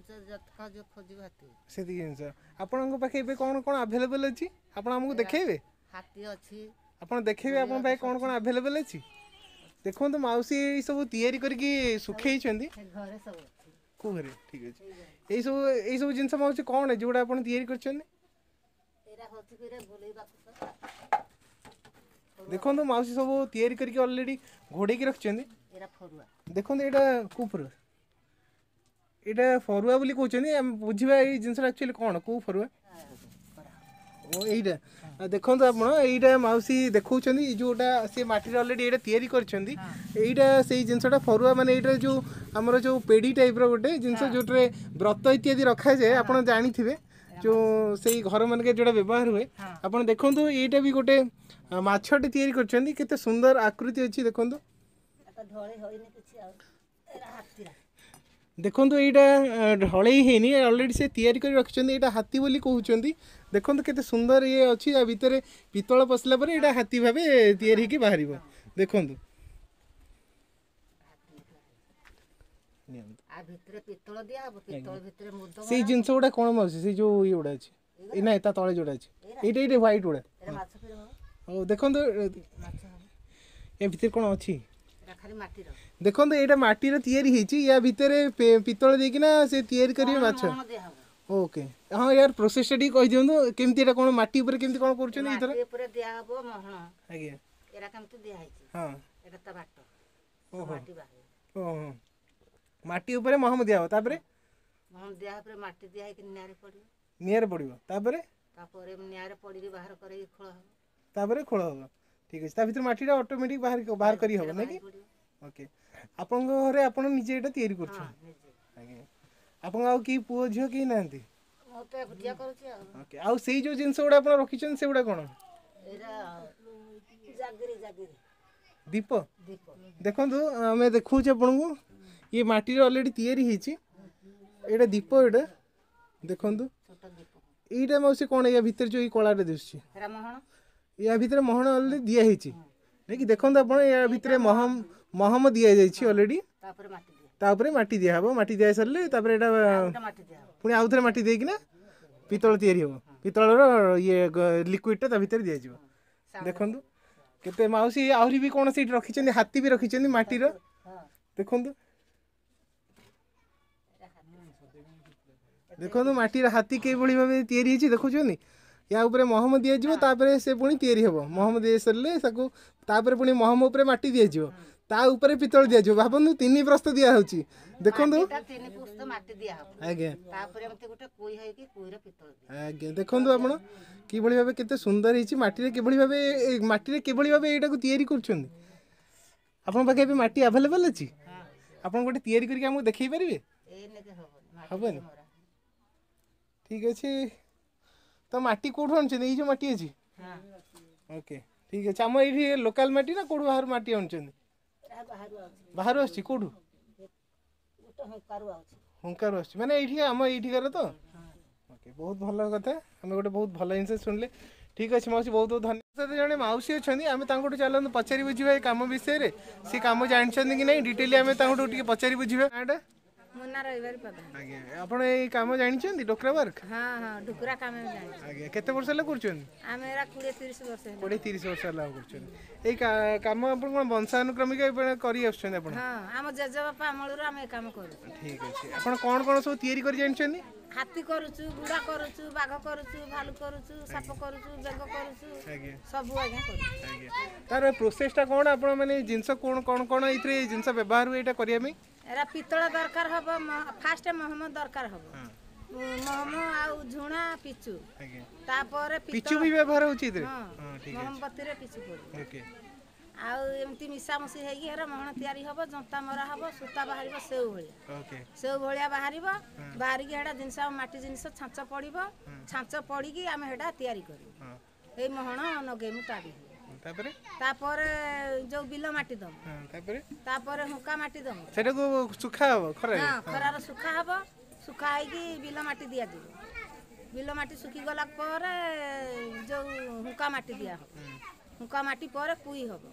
ଯେତକ ଯିଏ ଖୋଜିବ ହାତୀ ସେତିକି ଜିନିଷ। ଆପଣଙ୍କ ପାଖେ ଏବେ କ'ଣ କ'ଣ ଆଭେଲେବଲ୍ ଅଛି ଆପଣ ଆମକୁ ଦେଖେଇବେ? ହାତୀ ଅଛି। ଆପଣ ଦେଖେଇବେ ଆପଣଙ୍କ ପାଖେ କ'ଣ କ'ଣ ଆଭେଲେବଲ୍ ଅଛି? ଦେଖନ୍ତୁ ମାଉସୀ ଏଇ ସବୁ ତିଆରି କରିକି ଶୁଖେଇଛନ୍ତି। ସେ ଘରେ ସବୁ ଅଛି। କେଉଁ ଘରେ? ଠିକ୍ ଅଛି। ଏଇସବୁ ଜିନିଷ ମାଉସୀ କ'ଣ ଯେଉଁଟା ଆପଣ ତିଆରି କରିଛନ୍ତି? ଏଇଟା ହଉଛି କି ବୁଲେଇବାକୁ ତ। ଦେଖନ୍ତୁ ମାଉସୀ ସବୁ ତିଆରି କରିକି ଅଲରେଡ଼ି ଘୋଡ଼େଇକି ରଖିଛନ୍ତି। ଏଇଟା ଫରୁଆ। ଦେଖନ୍ତୁ ଏଇଟା କେଉଁ ଫରୁଆ? ଏଇଟା ଫରୁଆ ବୋଲି କହୁଛନ୍ତି। ଆମେ ବୁଝିବା ଏଇ ଜିନିଷଟା ଆକ୍ଚୁଆଲି କ'ଣ, କେଉଁ ଫରୁଆ? ଓ ଏଇଟା, ଆଉ ଦେଖନ୍ତୁ ଆପଣ ଏଇଟା ମାଉସୀ ଦେଖାଉଛନ୍ତି ଯେଉଁଟା ସେ ମାଟିରେ ଅଲରେଡ଼ି ଏଇଟା ତିଆରି କରିଛନ୍ତି। ଏଇଟା ସେଇ ଜିନିଷଟା ଫରୁଆ, ମାନେ ଏଇଟା ଯେଉଁ ଆମର ଯେଉଁ ପେଡ଼ି ଟାଇପ୍ର ଗୋଟେ ଜିନିଷ ଯେଉଁଥିରେ ବ୍ରତ ଇତ୍ୟାଦି ରଖାଯାଏ, ଆପଣ ଜାଣିଥିବେ ଯେଉଁ ସେଇ ଘରମାନଙ୍କରେ ଯେଉଁଟା ବ୍ୟବହାର ହୁଏ। ଆପଣ ଦେଖନ୍ତୁ ଏଇଟା ବି ଗୋଟେ ମାଛଟେ ତିଆରି କରିଛନ୍ତି, କେତେ ସୁନ୍ଦର ଆକୃତି ଅଛି ଦେଖନ୍ତୁ। ଏଟା ଢଳେଇ ହେଇନି କିଛି ଆଉ। ଏଇଟା ହାତୀରା। ଦେଖନ୍ତୁ ଏଇଟା ଢଳେଇ ହେଇନି, ଅଲରେଡ଼ି ସେ ତିଆରି କରି ରଖିଛନ୍ତି। ଏଇଟା ହାତୀ ବୋଲି କହୁଛନ୍ତି। ଦେଖନ୍ତୁ କେତେ ସୁନ୍ଦର ଇଏ ଅଛି, ୟା ଭିତରେ ପିତ୍ତଳ ପଶିଲା ପରେ ଏଇଟା ହାତୀ ଭାବେ ତିଆରି ହେଇକି ବାହାରିବ। ଦେଖନ୍ତୁ ନିଅନ୍ତୁ। ଆ ଭିତରେ ପିତ୍ତଳ ଦିଆହବ, ପିତ୍ତଳ ଭିତରେ ମୁଦ। ସେଇ ଜିନିଷ ଗୁଡ଼ା କ'ଣ ମାଉସୀ? ସେଇ ଯେଉଁ ଇଏ ଗୁଡ଼ା ଅଛି, ଏ ନାଇଁ, ତା ତଳେ ଯେଉଁଟା ଅଛି, ଏଇଟା ହ୍ୱାଇଟ୍ ଗୁଡ଼ା। ଏଇଟା ମାଛ ଫିର ହବ। ହଉ, ଦେଖନ୍ତୁ ମାଛ ହବ। ଏ ଭିତରେ କ'ଣ ଅଛି? ଏଇଟା ଖାଲି ମାଟିର। ଦେଖନ୍ତୁ ଏଇଟା ମାଟିର ତିଆରି ହେଇଛି, ୟା ଭିତରେ ପିତ୍ତଳ ଦେଇକିନା ସେ ତିଆରି କରିବେ ମାଛ। ମହଣ ଦିଆହବ। ଓକେ, ହଁ, ୟାର ପ୍ରୋସେସଟା ଟିକେ କହିଦିଅନ୍ତୁ କେମିତି, ଏଇଟା କ'ଣ ମାଟି ଉପରେ କେମିତି କ'ଣ କରୁଛନ୍ତି ଏଇଥର? ମାଟି ଉପରେ ଦିଆହବ ମହଣ। ଆଜ୍ଞା। ଏଇଟା କେମିତି ଦିଆହେଇଛି? ହଁ। ଏଇଟା ତା ବାଟ। ଓହୋ। ମାଟି ବାହାରିବ। ଓହୋ, ମାଟି ଉପରେ ମହମ ଦିଆହବ, ତାପରେ ମହଣ ଦିଆ ପରେ ମାଟି ଦିଆ ହେଇକି ନିଆଁରେ ପଡ଼ିବ। ନିଆଁରେ ପଡ଼ିବ, ତାପରେ? ତାପରେ ନିଆଁରେ ପଡ଼ିକି ବାହାର କରିକି ଖୋଳ ହବ। ତାପରେ ଖୋଳ ହବ। ଠିକ୍ ଅଛି, ତା ଭିତରେ ମାଟିଟା ଅଟୋମେଟିକ୍ ବାହାର କରି ହବ ନାଇଁ କି? ପଡ଼ିବ। ଓକେ, ଆପଣଙ୍କ ଘରେ ଆପଣ ନିଜେ ଏଇଟା ତିଆରି ହଁ। କରୁଛନ୍ତି? ନିଜେ। ଆଜ୍ଞା, ଆପଣଙ୍କ ଆଉ କେହି ପୁଅ ଝିଅ କେହି ନାହାନ୍ତି? ମୁଁ ତ ଏକୁଟିଆ କରୁଛି ଆଉ। ଓକେ, ଆଉ ସେଇ ଯେଉଁ ଜିନିଷ ଗୁଡ଼ା ଆପଣ ରଖିଛନ୍ତି ସେଗୁଡ଼ା କ'ଣ? ଏଇଟା ଜାଗିରି, ଜାଗିରି। ଦୀପ। ଦୀପ। ଦେଖନ୍ତୁ ଆମେ ଦେଖାଉଛୁ ଆପଣଙ୍କୁ, ଇଏ ମାଟିରେ ଅଲରେଡ଼ି ତିଆରି ହେଇଛି, ଏଇଟା ଦୀପ। ଏଇଟା ଦେଖନ୍ତୁ। ଛୋଟ ଦୀପ। ଏଇଟା ମାଉସୀ କ'ଣ, ୟା ଭିତରେ ଯେଉଁ ଏଇ କଳାଟା ଦିଶୁଛି? ଏଇଟା ମହଣ। ୟା ଭିତରେ ମହଣ ଅଲରେଡ଼ି ଦିଆ ହେଇଛି ନାଇଁ କି? ଦେଖନ୍ତୁ ଆପଣ, ୟା ଭିତରେ ମହମ ଦିଆଯାଇଛି ଅଲରେଡ଼ି। ତାପରେ ମାଟି ଦିଆ। ତାପରେ ମାଟି ଦିଆହବ, ମାଟି ଦିଆ ସାରିଲେ ତାପରେ ଏଇଟା ଆଉ ଗୋଟେ ମାଟି ଦିଆହବ। ପୁଣି ଆଉଥରେ ମାଟି ଦେଇକିନା ପିତ୍ତଳ ତିଆରି ହେବ, ପିତ୍ତଳର ଇଏ ଲିକ୍ୱିଡ଼ଟା ତା ଭିତରେ ଦିଆଯିବ। ଦେଖନ୍ତୁ କେତେ ମାଉସୀ ଆହୁରି ବି କ'ଣ ସେଇଠି ରଖିଛନ୍ତି, ହାତୀ ବି ରଖିଛନ୍ତି ମାଟିର। ହଁ। ଦେଖନ୍ତୁ ଦେଖନ୍ତୁ ମାଟିର ହାତୀ କିଭଳି ଭାବେ ତିଆରି ହେଇଛି ଦେଖୁଛନ୍ତି। ୟା ଉପରେ ମହମ ଦିଆଯିବ, ତାପରେ ସେ ପୁଣି ତିଆରି ହେବ। ମହମ ଦିଆ ସାରିଲେ ତାକୁ ତାପରେ ପୁଣି ମହମ ଉପରେ ମାଟି ଦିଆଯିବ, ତା ଉପରେ ପିତ୍ତଳ ଦିଆଯିବ। ଭାବନ୍ତୁ 3 ପ୍ରସ୍ତ ଦିଆହେଉଛି ଦେଖନ୍ତୁ। ମାଟିଟା 3 ପୁସ୍ତ ମାଟି ଦିଆହବ। ଆଜ୍ଞା। ତାପରେ ଏମିତି ଗୋଟେ କୁଇ ହେଇକି କୁଇରେ ପିତ୍ତଳ ଦିଆ। ଆଜ୍ଞା, ଦେଖନ୍ତୁ ଆପଣ କିଭଳି ଭାବେ କେତେ ସୁନ୍ଦର ହେଇଛି ମାଟିରେ, କିଭଳି ଭାବେ ମାଟିରେ କିଭଳି ଭାବେ ଏଇଟାକୁ ତିଆରି କରୁଛନ୍ତି। ଆପଣଙ୍କ ପାଖେ ଏବେ ମାଟି ଆଭେଲେବଲ୍ ଅଛି? ଆପଣ ଗୋଟେ ତିଆରି କରିକି ଆମକୁ ଦେଖେଇ ପାରିବେ? ଏଇନେକେ ହବନି ମାଟି। ହବନି? ମରା। ଠିକ୍ ଅଛି, ତ ମାଟି କେଉଁଠୁ ଆଣୁଛନ୍ତି? ଏଇ ଯେଉଁ ମାଟି ଅଛି? ହଁ। ଓକେ, ଠିକ୍ ଅଛି। ଆମ ଏଇଠି ଲୋକାଲ୍ ମାଟି ନା କେଉଁଠୁ ବାହାରୁ ମାଟି ଆଣୁଛନ୍ତି? ଏଇଟା ବାହାରୁ ଆଉଛି। ବାହାରୁ ଆସୁଛି କେଉଁଠୁ? ଗୋଟେ ହୁଙ୍କାରୁ ଆଉଛି। ହୁଙ୍କାରୁ ଆସୁଛି, ମାନେ ଏଇଠି ଆମ ଏଇଠିକାର ତ। ଓକେ, ବହୁତ ଭଲ କଥା, ଆମେ ଗୋଟେ ବହୁତ ଭଲ ଜିନିଷ ଶୁଣିଲେ। ଠିକ୍ ଅଛି ମାଉସୀ, ବହୁତ ବହୁତ ଧନ୍ୟବାଦ। ସହିତ ଜଣେ ମାଉସୀ ଅଛନ୍ତି, ଆମେ ତାଙ୍କଠୁ ଚାଲନ୍ତୁ ପଚାରି ବୁଝିବା ଏ କାମ ବିଷୟରେ, ସେ କାମ ଜାଣିଛନ୍ତି କି ନାହିଁ ଡିଟେଲି ଆମେ ତାଙ୍କଠୁ ଟିକେ ପଚାରି ବୁଝିବା। ନାଁଟା? ମୁନା ରବିବାର ପ୍ରଧାନ। ଆଜ୍ଞା, ଆପଣ ଏଇ କାମ ଜାଣିଛନ୍ତି, ଡୋକ୍ରା ୱାର୍କ? ହଁ, ଢୁକୁରା କାମ ଆମେ ଜାଣିଛୁ। ଆଜ୍ଞା, କେତେ ବର୍ଷ ହେଲା କରୁଛନ୍ତି? ଆମେ ଏରା 20-30 ବର୍ଷ ହେଲା। 20-30 ବର୍ଷ ହେଲା କରୁଛନ୍ତି ଏଇ କାମ। ଆପଣ କ'ଣ ବଂଶାନୁକ୍ରମିକ କରି ଆସୁଛନ୍ତି ଆପଣ? ହଁ, ଆମ ଜେଜେବାପା ଅମଳରୁ ଆମେ ଏ କାମ କରୁଛୁ। ଠିକ୍ ଅଛି। ଆପଣ କ'ଣ କ'ଣ ସବୁ ତିଆରି କରି ଜାଣିଛନ୍ତି? ହାତୀ କରୁଛୁ, ଗୁଡ଼ା କରୁଛୁ, ବାଘ କରୁଛୁ, ଭାଲୁ କରୁଛୁ, ସାପ କରୁଛୁ, ବେଙ୍ଗ କରୁଛୁ। ଆଜ୍ଞା। ସବୁ ଆଜ୍ଞା କରୁଛୁ। ଆଜ୍ଞା, ତାର ପ୍ରୋସେସଟା କ'ଣ? ଆପଣ ମାନେ ଜିନିଷ କ'ଣ କ'ଣ କ'ଣ ଏଇଥିରେ ଜିନିଷ ବ୍ୟବହାର ହୁଏ ଏଇଟା କରିବା ପାଇଁ? ଏରା ପିତ୍ତଳ ଦରକାର ହବ, ଫାଷ୍ଟ ମହମ ଦରକାର ହବ, ମହମ ଆଉ ଝୁଣା, ପିଚୁ। ଆଜ୍ଞା। ତାପରେ ପିଚୁ ବି ବ୍ୟବହାର ହେଉଛି ଏଥିରେ? ହଁ, ମହମବତୀରେ ପିଚୁ ପଡ଼ିବ। ଓକେ। ଆଉ ଏମିତି ମିଶାମିଶି ହେଇକି ହେରା ମହଣ ତିଆରି ହବ, ଜନ୍ତା ମରା ହବ, ସୂତା ବାହାରିବ ସେଉ ଭଳିଆ। ଓକେ। ସେଉ ଭଳିଆ ବାହାରିବ, ବାହାରିକି ହେଟା ଜିନିଷ ଆମ ମାଟି ଜିନିଷ ଛାଞ୍ଚ ପଡ଼ିବ, ଛାଞ୍ଚ ପଡ଼ିକି ଆମେ ହେଟା ତିଆରି କରିବୁ। ଏଇ ମହଣ ନଗେଇମୁ ତା ଦେହରେ। ତାପରେ? ତାପରେ ଯୋଉ ବିଲ ମାଟି ଦବୁ। ତାପରେ? ତାପରେ ହୁଙ୍କା ମାଟି ଦବୁ। ସେଟାକୁ ଶୁଖା ହବ ଖରାରେ? ହଁ, ଖରାରେ ଶୁଖା ହବ, ଶୁଖା ହେଇକି ବିଲ ମାଟି ଦିଆଯିବ। ବିଲ ମାଟି ଶୁଖିଗଲା ପରେ ଯୋଉ ହୁଙ୍କା ମାଟି ଦିଆହବ, ହୁଙ୍କା ମାଟି ପରେ କୁଇ ହବ।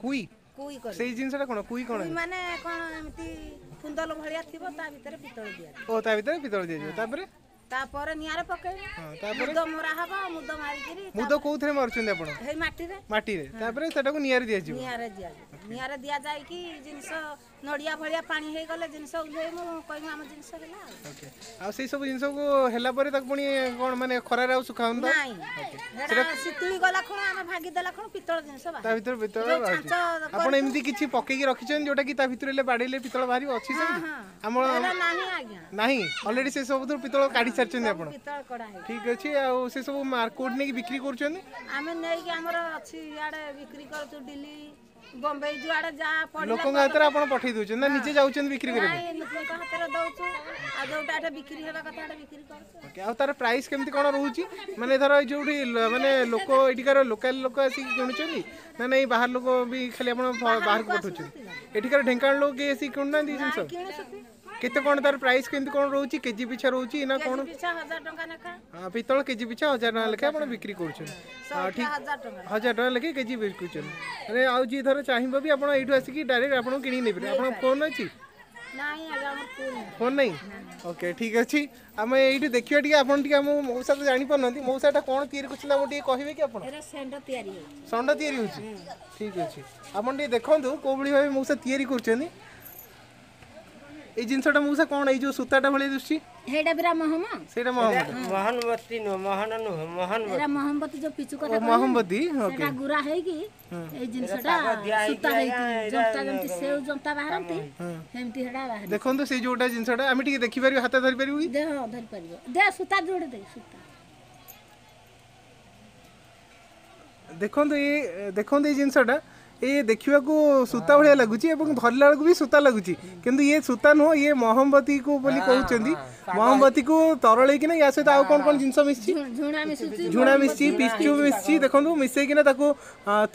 କୁଇ? କୁଇ କରି ସେଇ ଜିନିଷଟା କ'ଣ? କୁଇ କ'ଣ? କୁଇ ମାନେ କ'ଣ, ଏମିତି ଫୁନ୍ଦଲ ଭଳିଆ ଥିବ, ତା ଭିତରେ ପିତ୍ତଳ ଦିଆଯିବ। ଓ, ତା ଭିତରେ ପିତ୍ତଳ ଦିଆଯିବ। ତାପରେ? ତାପରେ ନିଆଁରେ ପକେଇବୁ, ତାପରେ ମୁଦ ମରା ହବ। ମୁଦ ମାରିକିରି। ମୁଦ କୋଉଥିରେ ମାରୁଛନ୍ତି ଆପଣ? ହେଇ ମାଟିରେ। ମାଟିରେ। ତାପରେ ସେଟାକୁ ନିଆଁରେ ଦିଆଯିବ? ନିଆଁରେ ଦିଆଯିବ। ନିଆଁରେ ଦିଆଯାଇକି ଜିନିଷ ନଡ଼ିଆ ଭଳିଆ ପାଣି ହେଇଗଲେ ଜିନିଷ ଓହ୍ଲେଇବୁ, କହିବୁ ଆମ ଜିନିଷ ହେଲା। ଆଉ ଓକେ, ଆଉ ସେଇ ସବୁ ଜିନିଷକୁ ହେଲା ପରେ ତାକୁ ପୁଣି କ'ଣ, ମାନେ ଖରାରେ ଆଉ ଶୁଖା ହଉନି? ନାଇଁ, ସେଟା ଶୀତୁଳି ଗଲା ଖୁଣ ଆମେ ଭାଙ୍ଗି ଦେଲା ଖୁଣ ପିତ୍ତଳ ଜିନିଷ ତା ଭିତରେ ପିତ୍ତଳ ବାହାରୁଛି। ଆପଣ ଏମିତି କିଛି ପକେଇକି ରଖିଛନ୍ତି ଯୋଉଟା କି ତା ଭିତରେ ହେଲେ ବାଡେଇଲେ ପିତ୍ତଳ ବାହାରିବ, ଅଛି ସେମିତି? ଆମର ନାହିଁ ଆଜ୍ଞା। ନାହିଁ, ଅଲରେଡି ସେ ସବୁଥିରୁ ପିତ୍ତଳ କାଢି ସାରିଛନ୍ତି ଆପଣ? ପିତ୍ତଳ କଢା ହେଇଛି। ଠିକ୍ ଅଛି। ଆଉ ସେ ସବୁ କୋଉଠି ନେଇକି ବିକ୍ରି କରୁଛନ୍ତି? ଆମେ ନେଇକି ଆମର ଅଛି ଇଆଡ଼େ ବିକ୍ରି କରୁଛୁ, ଦିଲ୍ଲୀ, ବମ୍ବେ, ଯୁଆଡ଼େ ଯାହା ପଡ଼ିଲା। ଲୋକଙ୍କ ହାତରେ ଆପଣ ପଠେଇ ଦଉଛନ୍ତି ନା ନିଜେ ଯାଉଛନ୍ତି ବିକ୍ରି କରିବା ପାଇଁ? ନାଇଁ, ଲୋକଙ୍କ ହାତରେ ଦଉଛୁ, ଆଉ ଯୋଉଟା ଏଟା ବିକ୍ରି ହେବା କଥା ଏଟା ବିକ୍ରି କରୁଛୁ। ଓକେ, ଆଉ ତାର ପ୍ରାଇସ୍ କେମିତି କ'ଣ ରହୁଛି? ମାନେ ଧର ଏଇ ଯୋଉଠି ମାନେ ଲୋକ ଏଠିକାର ଲୋକାଲ ଲୋକ ଆସିକି କିଣୁଛନ୍ତି ନା ନାଇଁ ବାହାର ଲୋକ ବି ଖାଲି ଆପଣ ବାହାରକୁ ପଠଉଛନ୍ତି? ଏଠିକାର ଢେଙ୍କାନାଳ ଲୋକ କେହି ଆସିକି କିଣୁନାହାନ୍ତି ଜିନିଷ? କିଣୁଛନ୍ତି। କେତେ କ'ଣ ତାର ପ୍ରାଇସ୍ କେମିତି କ'ଣ ରହୁଛି? କେଜି ପିଛା ରହୁଛି ନା କ'ଣ? ପିଛା 1000 ଟଙ୍କା ଲେଖା। ହଁ, ପିତ୍ତଳ କେଜି ପିଛା 1000 ଟଙ୍କା ଲେଖା ଆପଣ ବିକ୍ରି କରୁଛନ୍ତି? ଠିକ୍, 1000 ଟଙ୍କା। 1000 ଟଙ୍କା ଲେଖେ କେଜି ବିକୁଛନ୍ତି। ମାନେ ଆଉ ଯିଏ ଧର ଚାହିଁବ ବି ଆପଣ ଏଇଠୁ ଆସିକି ଡାଇରେକ୍ଟ ଆପଣଙ୍କୁ କିଣିକି ନେଇପାରିବେ। ଆପଣଙ୍କ ଫୋନ୍ ଅଛି? ନାଇଁ ଆଜ୍ଞା, ଆମର ଫୋନ୍ ଫୋନ୍ ନାହିଁ। ଓକେ, ଠିକ୍ ଅଛି। ଆମେ ଏଇଠି ଦେଖିବା ଟିକେ, ଆପଣ ଟିକେ ଆମ ମଉସା ତ ଜାଣିପାରୁନାହାନ୍ତି, ମଉସାଟା କ'ଣ ତିଆରି କରୁଛନ୍ତି ଆମକୁ ଟିକେ କହିବେ କି ଆପଣ? ଏରା ଷେଣ୍ଢ ତିଆରି ହେଉଛି। ଷଣ୍ଢ ତିଆରି ହେଉଛି। ଠିକ୍ ଅଛି, ଆପଣ ଟିକେ ଦେଖନ୍ତୁ କୋଉ ଭଳି ଭାବେ ମଉସା ତିଆରି କରୁଛନ୍ତି ଏଇ ଜିନିଷଟା। ମଉସା, କ'ଣ ଏଇ ଯୋଉ ସୂତାଟା ଭଳିଆ ଦିଶୁଛି? ହେଇଟା ବିରା ମହମ। ସେଇଟା ମହମ? ମହନବତୀ ନୁହଁ, ମହନ ନୁହଁ, ମହନବତୀ। ଏରା ମହମବତୀ, ଯୋଉ ପିଚୁ କଥା। ମହମବତୀ, ଓକେ। ସେଟା ଗୁରା ହେଇକି ଏଇ ଜିନିଷଟା ସୂତା ହେଇକି ଜନ୍ତା, ଯେମିତି ସେଉ ଜନ୍ତା ବାହାରନ୍ତି ସେମିତି ହେଟା ବାହାରେ। ଦେଖନ୍ତୁ ସେଇ ଯୋଉଟା ଜିନିଷଟା ଆମେ ଟିକେ ଦେଖିପାରିବୁ, ହାତ ଧରିପାରିବୁ କି? ଦେ, ହଁ, ଧରିପାରିବ, ଦେ ସୂତା ଯୋଡ଼େ ଦେ ସୂତା। ଦେଖନ୍ତୁ ଏ ଦେଖନ୍ତୁ ଏଇ ଜିନିଷଟା, ଏ ଦେଖିବାକୁ ସୂତା ଭଳିଆ ଲାଗୁଛି ଏବଂ ଧରିଲା ବେଳକୁ ବି ସୂତା ଲାଗୁଛି, କିନ୍ତୁ ଇଏ ସୂତା ନୁହଁ, ଇଏ ମହମବତୀକୁ ବୋଲି କହୁଛନ୍ତି। ମହମବତୀକୁ ତରଳେଇକିନା ୟା ସହିତ ଆଉ କ'ଣ କ'ଣ ଜିନିଷ ମିଶିଛି? ଝୁଣା ମିଶୁଛି। ଝୁଣା ମିଶିଛି, ପିଚୁ ମିଶିଛି। ଦେଖନ୍ତୁ, ମିଶେଇକିନା ତାକୁ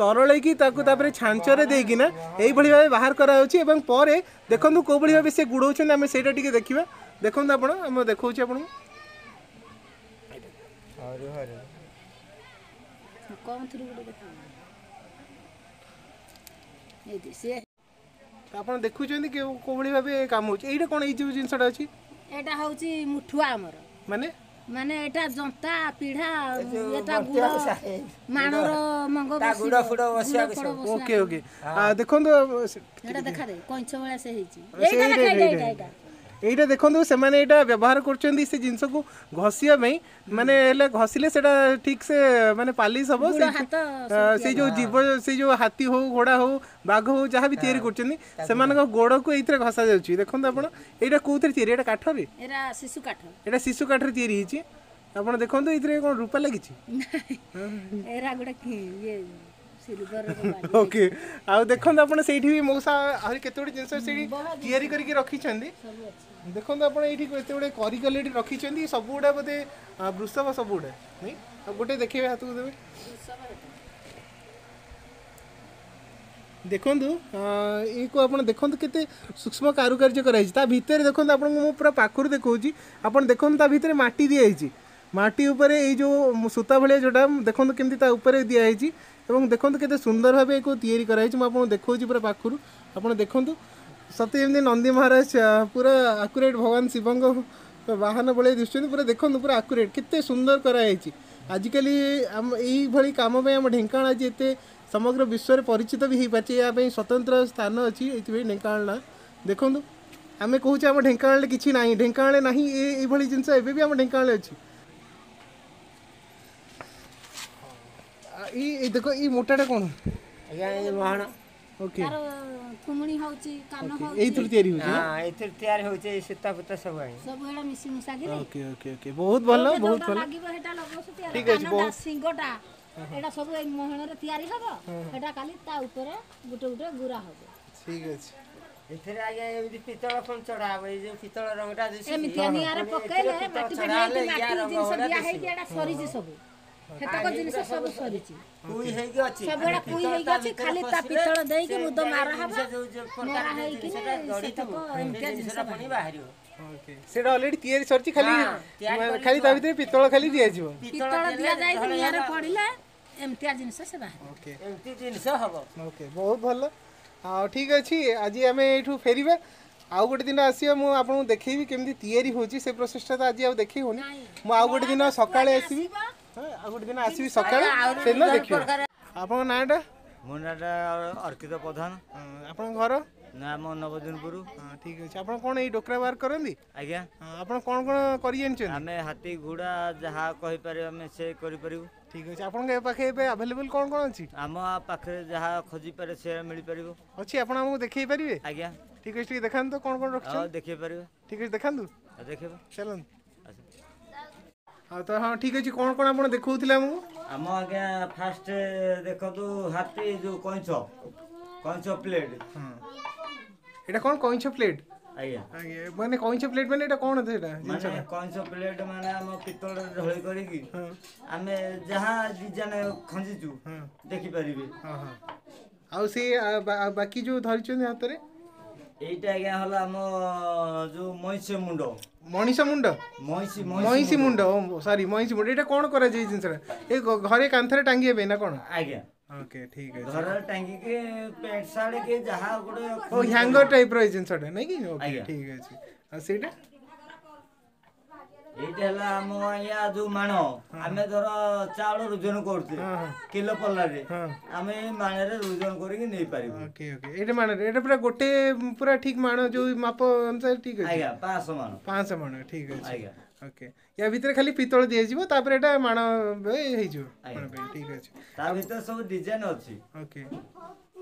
ତରଳେଇକି ତାକୁ ତାପରେ ଛାଞ୍ଚରେ ଦେଇକିନା ଏଇଭଳି ଭାବେ ବାହାର କରାଯାଉଛି ଏବଂ ପରେ ଦେଖନ୍ତୁ କୋଉଭଳି ଭାବେ ସେ ଗୁଡ଼ଉଛନ୍ତି, ଆମେ ସେଇଟା ଟିକେ ଦେଖିବା। ଦେଖନ୍ତୁ ଆପଣ, ଆମେ ଦେଖାଉଛି ଆପଣଙ୍କୁ। କଣଥିରୁ ଗୋଟେ ଦେଖ, ଏଇଠି ସିଏ ଆପଣ ଦେଖୁଛନ୍ତି କୋଉଭଳି ଭାବେ କାମ ହେଉଛି। ଏଇଟା କ'ଣ, ଏଇ ଯୋଉ ଜିନିଷଟା ଅଛି? ଏଇଟା ହଉଛି ମୁଠୁଆ ଆମର। ମାନେ? ମାନେ ଏଇଟା ଜନ୍ତା ପିଢା, ଏଟା ଗୁଡ଼ ମାଣର ମଙ୍ଗ। ଓକେ ଓକେ, ଦେଖନ୍ତୁ ଏଇଟା ଦେଖା ଦେ, କଇଁଛ ଭଳିଆ ସେ ହେଇଛି। ଏଇଟା ଦେଖା, ଏଇଟା ଏଇଟା ଏଇଟା ଦେଖନ୍ତୁ, ସେମାନେ ଏଇଟା ବ୍ୟବହାର କରୁଛନ୍ତି ସେ ଜିନିଷକୁ ଘଷିବା ପାଇଁ, ମାନେ ହେଲେ ଘଷିଲେ ସେଇଟା ଠିକ୍ ସେ ମାନେ ପାଲିସ୍ ହବ। ସେଇ ଯୋଉ ଜୀବ, ସେଇ ଯୋଉ ହାତୀ ହଉ, ଘୋଡ଼ା ହଉ, ବାଘ ହଉ, ଯାହା ବି ତିଆରି କରୁଛନ୍ତି ସେମାନଙ୍କ ଗୋଡ଼କୁ ଏଇଥିରେ ଘଷା ଯାଉଛି। ଦେଖନ୍ତୁ ଆପଣ, ଏଇଟା କୋଉଥିରେ ତିଆରି? ଏଇଟା କାଠରେ? ଏଇଟା ଶିଶୁ କାଠ। ଏଇଟା ଶିଶୁ କାଠରେ ତିଆରି ହେଇଛି। ଆପଣ ଦେଖନ୍ତୁ, ଏଇଥିରେ କ'ଣ ରୂପା ଲାଗିଛି? ଏରା ଗୋଟେ ଇଏ। ଓକେ, ଆଉ ଦେଖନ୍ତୁ ଆପଣ, ସେଇଠି ବି ମଉସା ଆହୁରି କେତେ ଗୁଡ଼ିଏ ଜିନିଷ ସେଇଠି ତିଆରି କରିକି ରଖିଛନ୍ତି। ଦେଖନ୍ତୁ ଆପଣ, ଏଇଠି କେତେ ଗୁଡ଼ିଏ କରିକଲି ଏଇଠି ରଖିଛନ୍ତି, ସବୁ ଗୁଡ଼ା ବୋଧେ ବୃଷଭ ସବୁ ଗୁଡ଼ା ନାଇଁ? ଆଉ ଗୋଟେ ଦେଖେଇବେ, ହାତକୁ ଦେବେ। ଦେଖନ୍ତୁ, ଏଇକୁ ଆପଣ ଦେଖନ୍ତୁ, କେତେ ସୂକ୍ଷ୍ମ କାରୁକାର୍ଯ୍ୟ କରାଯାଇଛି ତା ଭିତରେ। ଦେଖନ୍ତୁ, ଆପଣଙ୍କୁ ମୁଁ ପୁରା ପାଖରୁ ଦେଖାଉଛି। ଆପଣ ଦେଖନ୍ତୁ, ତା ଭିତରେ ମାଟି ଦିଆହେଇଛି। ମାଟି ଉପରେ ଏଇ ଯେଉଁ ସୂତା ଭଳିଆ ଯେଉଁଟା, ଦେଖନ୍ତୁ କେମିତି ତା ଉପରେ ଦିଆହେଇଛି ଏବଂ ଦେଖନ୍ତୁ କେତେ ସୁନ୍ଦର ଭାବେ ଏକୁ ତିଆରି କରାହେଇଛି। ମୁଁ ଆପଣଙ୍କୁ ଦେଖାଉଛି ପୁରା ପାଖରୁ। ଆପଣ ଦେଖନ୍ତୁ, ସତେ ଯେମିତି ନନ୍ଦୀ ମହାରାଜ ପୁରା ଆକୁରେଟ୍ ଭଗବାନ ଶିବଙ୍କ ବାହନ ଭଳିଆ ଦିଶୁଛନ୍ତି ପୁରା। ଦେଖନ୍ତୁ, ପୁରା ଆକୁରେଟ୍ କେତେ ସୁନ୍ଦର କରାହେଇଛି। ଆଜିକାଲି ଆମ ଏଇଭଳି କାମ ପାଇଁ ଆମ ଢେଙ୍କାନାଳ ଆଜି ଏତେ ସମଗ୍ର ବିଶ୍ୱରେ ପରିଚିତ ବି ହେଇପାରିଛି। ଏହା ପାଇଁ ସ୍ୱତନ୍ତ୍ର ସ୍ଥାନ ଅଛି, ଏଇଥିପାଇଁ ଢେଙ୍କାନାଳ ନାଁ। ଦେଖନ୍ତୁ, ଆମେ କହୁଛେ ଆମ ଢେଙ୍କାନାଳରେ କିଛି ନାହିଁ, ଢେଙ୍କାନାଳରେ ନାହିଁ, ଏଇଭଳି ଜିନିଷ ଏବେ ବି ଆମ ଢେଙ୍କାନାଳରେ ଅଛି। ଏଇ ଦେଖ, ଏଇ ମୋଟାଟା କ'ଣ? ଆଜ୍ଞା, ଏଇ ମହଣ। ଓକେ। ତାର ଥୁମୁଣି ହଉଛି, କାନ ହଉଛି। ଏଇଥିରୁ ତିଆରି ହେଉଛି? ହଁ, ଏଇଥିରୁ ତିଆରି ହଉଛି। ଏଇ ସୂତା ଫୁତା ସବୁ ଆଜ୍ଞା, ସବୁ ଏଇଟା ମିଶି ମୁଶାକିରି। ଓକେ ଓକେ ଓକେ, ବହୁତ ଭଲ, ବହୁତ ଭଲ। ଲାଗିବ ସେଟା ଲଗାଉଛନ୍ତି। ଠିକ ଅଛି, କାନଟା, ବହୁତ। ଶିଙ୍ଗଟା, ଏଇଟା ସବୁ ଏଇ ମହଣରେ ତିଆରି ହବ। ଏଇଟା କାଲି ତା ଉପରେ ଗୋଟେ ଗୋଟେ ଗୁରା ହବ। ଠିକ ଅଛି। ଏଥିରେ ଆଜ୍ଞା ଏମିତି ପିତ୍ତଳ ପୁଣି ଚଢା ହବ। ଏଇ ଯୋଉ ପିତ୍ତଳ ରଙ୍ଗଟା ଦିଶୁଛି, ଏମିତିଆ ନିଆଁରେ ପୁଣି ପକେଇଲେ ଏଥିରେ ପିତ୍ତଳ ମାଟି ଚଢା ଫାଟି ହେଲେ ମାଟି ୟା ରଙ୍ଗ ଜିନିଷ ଭଳିଆ ଦିଆ ଦିଶିବ। ହେଇକି ଏଇଟା ସରିଛି, ସବୁ ସେତକ ଜିନିଷ ସବୁ ସରିଛି। କୁଇ ହେଇକି ଅଛି। ସବୁ ଏଇଟା କୁଇ ପିତ୍ତଳ ହେଇକି ତା ଅଛି। ଭିତରେ ଖାଲି ତା ପଶିଲେ ପିତ୍ତଳ ଦେଇକି ସେ ମୁଦ ମାରା ହବ। ଜିନିଷ ଯୋଉ ଯୋଉ ପ୍ରକାର ମରା ଯୋଉ ହେଇକିନି ଜିନିଷଟା ଗଢିଥିବୁ, ସେତକ ସେ ଏମିତିଆ ଜିନିଷ ଜିନିଷଟା ପୁଣି ବାହାରିବ। ଓକେ, ସେଇଟା ଅଲରେଡି ତିଆରି ସରିଛି, ଖାଲି ହଁ, ତିଆରି କରିକି ଖାଲି ତା ଭିତରେ ପିତ୍ତଳ ଖାଲି ଦିଆଯିବ। ପିତ୍ତଳ ଦିଆଯାଇକି ନିଆଁରେ ପଡ଼ିଲେ ଏମିତିଆ ଜିନିଷ ସେ ବାହାରିବ। ଓକେ। ଏମିତି ଜିନିଷ ହବ। ଓକେ, ବହୁତ ଭଲ। ଆଉ ଠିକ୍ ଅଛି, ଆଜି ଆମେ ଏଇଠୁ ଫେରିବା। ଆଉ ଗୋଟେ ଦିନ ଆସିବା, ମୁଁ ଆପଣଙ୍କୁ ଦେଖେଇବି କେମିତି ତିଆରି ହେଉଛି। ସେ ପ୍ରୋସେସଟା ତ ଆଜି ଆଉ ଦେଖେଇ ହେଉନି। ମୁଁ ଆଉ ଗୋଟେ ଦିନ ସକାଳେ ଆସିବି। ହଁ, ଆଉ ଗୋଟେ ଦିନ ଆସିବି ସକାଳେ, ସେଦିନ ଦେଖିବା। ଆପଣଙ୍କ ନାଁଟା? ମୋ ନାଁଟା ଅର୍କିତ ପ୍ରଧାନ। ହଁ, ଆପଣଙ୍କ ଘର? ନା, ଆମ ନବଦିନପୁର। ହଁ, ଠିକ୍ ଅଛି। ଆପଣ କ'ଣ ଏଇ ଡୋକରା ୱାର୍କ କରନ୍ତି? ଆଜ୍ଞା। ହଁ, ଆପଣ କ'ଣ କ'ଣ କରି ଜାଣିଛନ୍ତି? ଆମେ ହାତୀ, ଘୋଡ଼ା ଯାହା କହିପାରିବେ ଆମେ ସେ କରିପାରିବୁ। ଠିକ୍ ଅଛି। ଆପଣଙ୍କ ଏ ପାଖେ ଏବେ ଆଭେଲେବଲ୍ କ'ଣ କ'ଣ ଅଛି? ଆମ ପାଖରେ ଯାହା ଖୋଜିପାରେ ସେ ମିଳିପାରିବ। ଅଛି। ଆପଣ ଆମକୁ ଦେଖେଇ ପାରିବେ? ଆଜ୍ଞା। ଠିକ୍ ଅଛି, ଟିକେ ଦେଖାନ୍ତୁ ତ କ'ଣ କ'ଣ ଆଉ ରଖିଛନ୍ତି। ଦେଖେଇ ପାରିବେ। ଠିକ୍ ଅଛି, ଦେଖାନ୍ତୁ। ଆଉ ଦେଖେଇବା। ଚାଲନ୍ତୁ। ଆଚ୍ଛା। ଆଉ ତ ହଁ, ଠିକ୍ ଅଛି। କ'ଣ କ'ଣ ଆପଣ ଦେଖାଉଥିଲେ ଆମକୁ? ଆମ ଆଜ୍ଞା ଫାଷ୍ଟ ଦେଖନ୍ତୁ, ହାତୀ ଯୋଉ କଇଁଛ ପ୍ଲେଟ୍। ହଁ, ଏଇଟା କ'ଣ କଇଁଛ ପ୍ଲେଟ୍? ଆଜ୍ଞା। ଆଜ୍ଞା, ମାନେ କଇଁଛ ପ୍ଲେଟ୍ ମାନେ ଏଇଟା କ'ଣ ସେଇଟା ମାନେ ଜିନିଷଟା? କଇଁଛ ପ୍ଲେଟ୍ ମାନେ ଆମ ପିତ୍ତଳରେ ଢଳେଇ କରିକି ହଁ ଆମେ ଯାହା ଡିଜାଇନ ଖଞ୍ଜିଛୁ ଦେଖିପାରିବେ। ହଁ ହଁ ଆଉ ସେ ଆଉ ବାକି ଯୋଉ ଧରିଛନ୍ତି ହାତରେ? ଏଇଟା ଆଜ୍ଞା ହେଲା ଆମ ଯୋଉ ମଇଁଷି ମୁଣ୍ଡ। ମଣିଷ ମୁଣ୍ଡ? ମଇଁଷି। ମଇଁଷି ମୁଣ୍ଡ, ସରି, ମଇଁଷି ମୁଣ୍ଡ। ଏଇଟା କ'ଣ କରାଯାଏ ଏଇ ଜିନିଷଟା? ଏ ଘରେ କାନ୍ଥରେ ଟାଙ୍ଗିବା ପାଇଁ ନା କ'ଣ? ଆଜ୍ଞା। ଓକେ, ଠିକ୍ ଅଛି। ଘରେ ଟାଙ୍ଗିକି ପ୍ୟାଣ୍ଟ ସାର୍ଟ କି ଯାହା ଗୋଟେ। ଓ, ହ୍ୟାଙ୍ଗର ଟାଇପ୍ର ଏଇ ଜିନିଷଟା ନାଇଁ କି? ଓକେ। ଆଜ୍ଞା। ଠିକ୍ ଅଛି। ଆଉ ସେଇଟା? ଏଇଟା ହେଲା ଆମ ଆଜ୍ଞା ଯୋଉ ମାଣ। ଆମେ ଧର ଚାଉଳ ଓଜନ କରୁଛେ ହଁ ହଁ କିଲୋ ପଲ୍ଲାରେ, ଆମେ ଏଇ ମାଣରେ ଓଜନ କରିକି ନେଇପାରିବୁ। ଓକେ ଓକେ ଏଇଟା ମାଣରେ, ଏଇଟା ପୁରା ଗୋଟେ ପୁରା ଠିକ୍ ମାଣ ଯୋଉ ମାପ ଅନୁସାରେ, ଠିକ୍ ଅଛି? ଆଜ୍ଞା, 500 ମାଣ। 500 ମାଣ, ଠିକ୍ ଅଛି। ଆଜ୍ଞା। ଓକେ, ୟା ଭିତରେ ଖାଲି ପିତ୍ତଳ ଦିଆଯିବ, ତାପରେ ଏଇଟା ମାଣ ହେଇଯିବ। ଆଜ୍ଞା। ମାଣ ପାଇଁ ଠିକ୍ ଅଛି। ତା ଭିତରେ ସବୁ ଡିଜାଇନ ଅଛି। ଓକେ।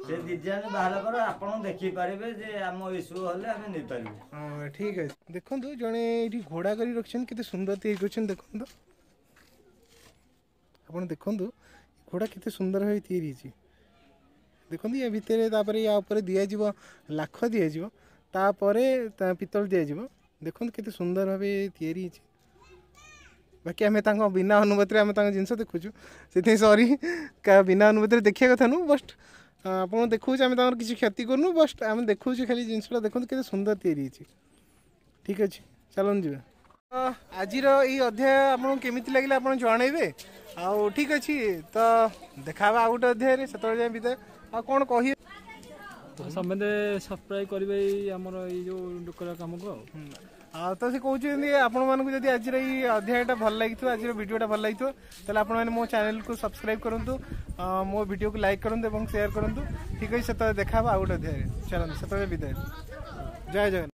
ସେ ଡିଜାଇନ ବାହାରିଲା ପରେ ଆପଣ ଦେଖିପାରିବେ ଯେ ଆମ ଇସ୍ୟୁ ହେଲେ ଆମେ ନେଇପାରିବୁ। ହଁ, ଠିକ୍ ଅଛି। ଦେଖନ୍ତୁ, ଜଣେ ଏଇଠି ଘୋଡ଼ା କରି ରଖିଛନ୍ତି, କେତେ ସୁନ୍ଦର ତିଆରି କରିଛନ୍ତି। ଦେଖନ୍ତୁ, ଆପଣ ଦେଖନ୍ତୁ, ଘୋଡ଼ା କେତେ ସୁନ୍ଦର ଭାବେ ତିଆରି ହେଇଛି। ଦେଖନ୍ତୁ, ୟା ଭିତରେ ତାପରେ ୟା ଉପରେ ଦିଆଯିବ, ଲାଖ ଦିଆଯିବ, ତାପରେ ତା ପିତ୍ତଳ ଦିଆଯିବ। ଦେଖନ୍ତୁ କେତେ ସୁନ୍ଦର ଭାବେ ତିଆରି ହେଇଛି। ବାକି ଆମେ ତାଙ୍କ ବିନା ଅନୁମତିରେ ଆମେ ତାଙ୍କ ଜିନିଷ ଦେଖୁଛୁ, ସେଥିପାଇଁ ସରି। ବିନା ଅନୁମତିରେ ଦେଖିବା କଥା ନୁହଁ, ବଟ୍ ଆପଣ ଦେଖାଉଛୁ। ଆମେ ତାଙ୍କର କିଛି କ୍ଷତି କରୁନୁ, ବଟ୍ ଆମେ ଦେଖାଉଛୁ ଖାଲି ଜିନିଷଟା। ଦେଖନ୍ତୁ କେତେ ସୁନ୍ଦର ତିଆରି ହେଇଛି। ଠିକ୍ ଅଛି, ଚାଲନ୍ତୁ ଯିବା। ଆଜିର ଏଇ ଅଧ୍ୟାୟ ଆପଣଙ୍କୁ କେମିତି ଲାଗିଲା ଆପଣ ଜଣେଇବେ। ଆଉ ଠିକ୍ ଅଛି, ତ ଦେଖା ହେବା ଆଉ ଗୋଟେ ଅଧ୍ୟାୟରେ, ସେତେବେଳେ ଯାଏଁ ବିଦାୟ। ଆଉ କ'ଣ କହିବେ? ସମସ୍ତେ ସବସ୍କ୍ରାଇବ୍ କରିବେ ଏଇ ଆମର ଏଇ ଯୋଉ ଡୋକରା କାମକୁ। ଆଉ ଆଉ ତ ସେ କହୁଛନ୍ତି, ଆପଣମାନଙ୍କୁ ଯଦି ଆଜିର ଏଇ ଅଧ୍ୟାୟଟା ଭଲ ଲାଗିଥିବ, ଆଜିର ଭିଡ଼ିଓଟା ଭଲ ଲାଗିଥିବ, ତାହେଲେ ଆପଣମାନେ ମୋ ଚ୍ୟାନେଲକୁ ସବସ୍କ୍ରାଇବ୍ କରନ୍ତୁ, ମୋ ଭିଡ଼ିଓକୁ ଲାଇକ୍ କରନ୍ତୁ ଏବଂ ସେୟାର କରନ୍ତୁ। ଠିକ୍ ଅଛି, ସେତେବେଳେ ଦେଖା ହେବ ଆଉ ଗୋଟେ ଅଧ୍ୟାୟରେ। ଚାଲନ୍ତୁ, ସେତେବେଳେ ବିଦାୟ। ଜୟ ଜଗନ୍ନାଥ।